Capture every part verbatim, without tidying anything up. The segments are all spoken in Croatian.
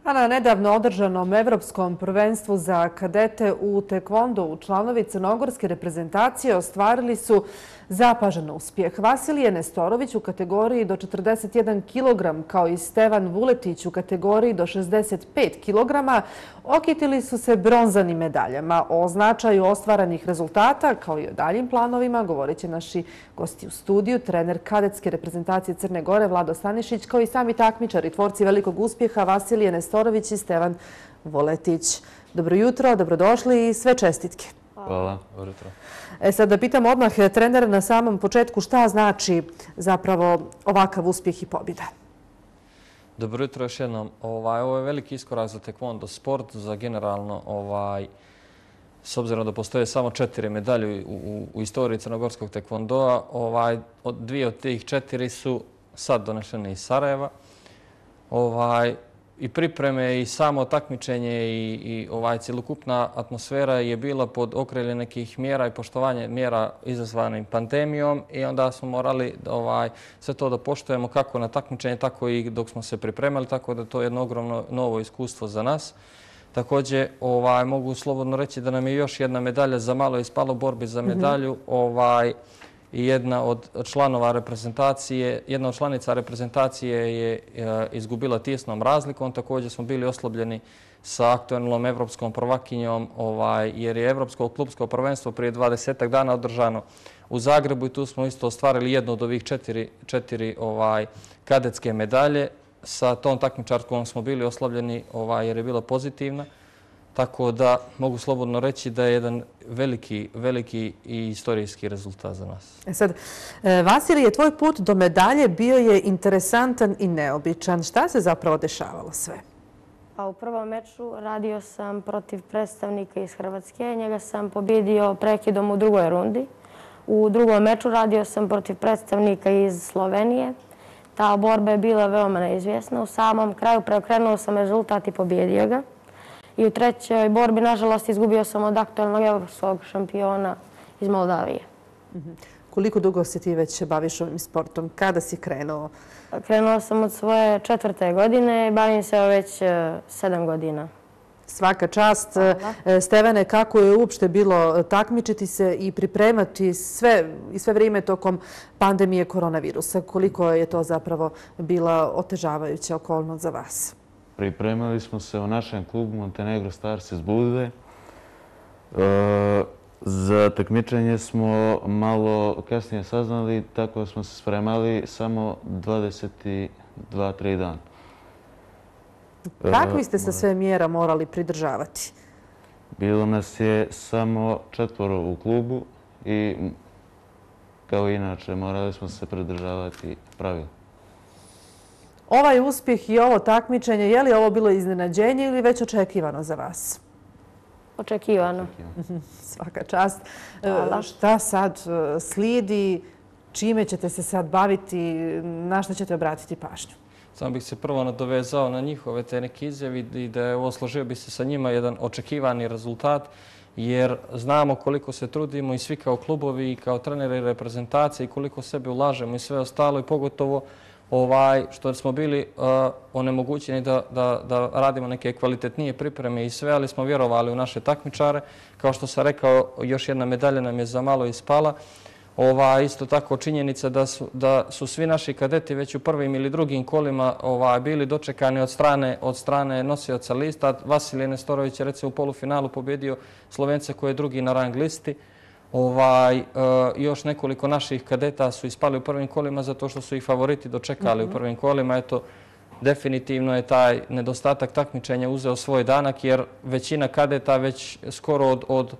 A na nedavno održanom evropskom prvenstvu za kadete u tekvondou članovi crnogorske reprezentacije ostvarili su zapažen uspjeh. Vasilije Nestorović u kategoriji do četrdeset jedan kilogram kao i Stevan Vuletić u kategoriji do šezdeset pet kilograma okitili su se bronzanim medaljama. O značaju ostvaranih rezultata kao i o daljim planovima govorit će naši gosti u studiju, trener kadetske reprezentacije Crne Gore Vlado Stanišić kao i sami takmičari, tvorci velikog uspjeha Vasilije Nestorović i Stevan Vuletić. Dobro jutro, dobrodošli i sve čestitke. Hvala. Dobro jutro. E sad da pitam odmah trenera na samom početku šta znači zapravo ovakav uspjeh i pobjeda. Dobro jutro još jednom. Ovaj, ovo je veliki iskorak za tekvondo sport, za generalno, ovaj, s obzirom da postoje samo četiri medalje u, u, u istoriji crnogorskog tekvondoa, ovaj, od, dvije od tih četiri su sad donešene iz Sarajeva. Ovaj, I pripreme i samo takmičenje i, i ovaj cjelokupna atmosfera je bila pod okriljem nekih mjera i poštovanje mjera izazvanim pandemijom i onda smo morali ovaj, sve to da poštujemo kako na takmičenje, tako i dok smo se pripremali, tako da to je jedno ogromno novo iskustvo za nas. Također ovaj, mogu slobodno reći da nam je još jedna medalja za malo ispalo borbi za medalju. Mm-hmm. ovaj, I jedna od članova reprezentacije, jedna od članica reprezentacije je izgubila tijesnom razlikom. Također smo bili oslobljeni sa aktualnom evropskom prvakinjom, ovaj, jer je evropsko klubsko prvenstvo prije dvadesetak dana održano u Zagrebu i tu smo isto ostvarili jednu od ovih četiri, četiri ovaj, kadetske medalje. Sa tom takmičarkom smo bili oslabljeni ovaj, jer je bila pozitivna. Tako da mogu slobodno reći da je jedan veliki, veliki i istorijski rezultat za nas. E sad, Vasilije, tvoj put do medalje bio je interesantan i neobičan. Šta se zapravo dešavalo sve? Pa u prvom meču radio sam protiv predstavnika iz Hrvatske. Njega sam pobjedio prekidom u drugoj rundi. U drugom meču radio sam protiv predstavnika iz Slovenije. Ta borba je bila veoma neizvjesna. U samom kraju preokrenuo sam rezultat i pobjedio ga. I u trećoj borbi, nažalost, izgubio sam od aktualnog evropskog šampiona iz Moldavije. Mm-hmm. Koliko dugo se ti već baviš ovim sportom? Kada si krenuo? Krenuo sam od svoje četvrte godine i bavim se već sedam godina. Svaka čast. Hvala. Stevane, kako je uopšte bilo takmičiti se i pripremati sve, i sve vrijeme tokom pandemije koronavirusa? Koliko je to zapravo bila otežavajuća okolnost za vas? Pripremali smo se u našem klubu Montenegro Stars iz Budve. E, za takmičenje smo malo kasnije saznali, tako smo se spremali samo dvadeset dva tri dana. Kakvi ste se sve mjera morali pridržavati? Bilo nas je samo četvoro u klubu i kao inače morali smo se pridržavati pravila. Ovaj uspjeh i ovo takmičenje, je li ovo bilo iznenađenje ili već očekivano za vas? Očekivano. Svaka čast. Hvala. Šta sad slijedi? Čime ćete se sad baviti? Na šta ćete obratiti pažnju? Samo bih se prvo nadovezao na njihove te neke izjave i da je ovo složio bi se sa njima jedan očekivani rezultat, jer znamo koliko se trudimo i svi kao klubovi i kao treneri reprezentacije i koliko sebe ulažemo i sve ostalo i pogotovo ovaj, što smo bili uh, onemogućeni da, da, da radimo neke kvalitetnije pripreme i sve, ali smo vjerovali u naše takmičare. Kao što sam rekao, još jedna medalja nam je za malo ispala. Ova, isto tako činjenica da su, da su svi naši kadeti već u prvim ili drugim kolima ovaj, bili dočekani od strane, od strane nosioca lista. Vasilije Nestorović je recimo u polufinalu pobjedio Slovence koji je drugi na rang listi. Ovaj, e, još nekoliko naših kadeta su ispali u prvim kolima zato što su ih favoriti dočekali mm-hmm. u prvim kolima. Eto, definitivno je taj nedostatak takmičenja uzeo svoj danak jer većina kadeta već skoro od, od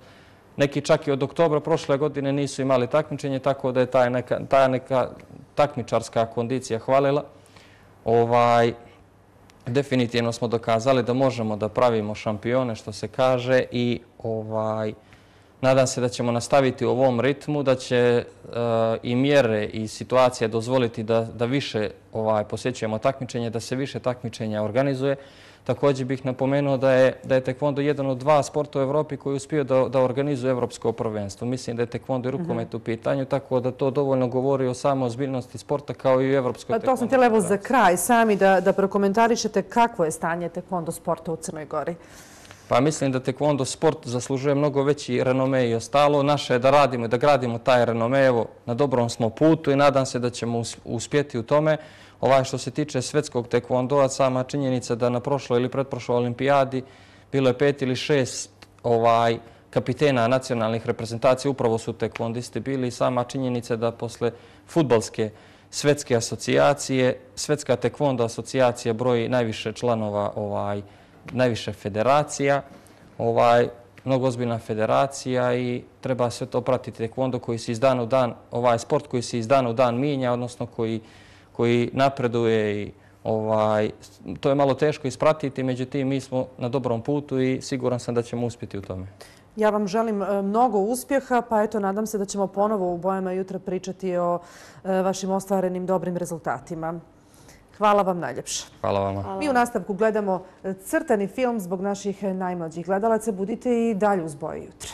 neki čak i od oktobra prošle godine nisu imali takmičenje, tako da je taj neka, ta neka takmičarska kondicija hvalila. Ovaj, definitivno smo dokazali da možemo da pravimo šampione, što se kaže, i ovaj, nadam se da ćemo nastaviti u ovom ritmu, da će uh, i mjere i situacije dozvoliti da, da više ovaj, posjećujemo takmičenje, da se više takmičenja organizuje. Također bih napomenuo da je, da je tekvondo jedan od dva sporta u Evropi koji je uspio da, da organizuje evropsko prvenstvo. Mislim da je tekvondo i rukomet u pitanju, tako da to dovoljno govori o samo ozbiljnosti sporta kao i u evropskoj tekvondo. To sam htjela evo za kraj sami da, da prokomentarišete kakvo je stanje tekvondo sporta u Crnoj Gori. Pa mislim da tekvondo sport zaslužuje mnogo veći renome i ostalo. Naše je da radimo i da gradimo taj renome. Evo, na dobrom smo putu i nadam se da ćemo uspjeti u tome. Ovaj što se tiče svetskog tekvondoa, sama činjenica da na prošloj ili pretprošloj olimpijadi bilo je pet ili šest ovaj, kapitena nacionalnih reprezentacija, upravo su tekvondisti bili i sama činjenica da posle fudbalske svetske asocijacije, svetska tekvondo asocijacija broji najviše članova, ovaj, najviše federacija, ovaj, mnogo ozbiljna federacija i treba sve to pratiti. Tekvondo koji se iz dana u dan, ovaj sport koji se iz dana u dan mijenja, odnosno koji koji napreduje i ovaj, to je malo teško ispratiti, međutim mi smo na dobrom putu i siguran sam da ćemo uspjeti u tome. Ja vam želim mnogo uspjeha, pa eto, nadam se da ćemo ponovo u Bojama jutra pričati o vašim ostvarenim dobrim rezultatima. Hvala vam najljepše. Hvala vama. Mi u nastavku gledamo crtani film zbog naših najmlađih gledalaca. Budite i dalje uz Boje jutra.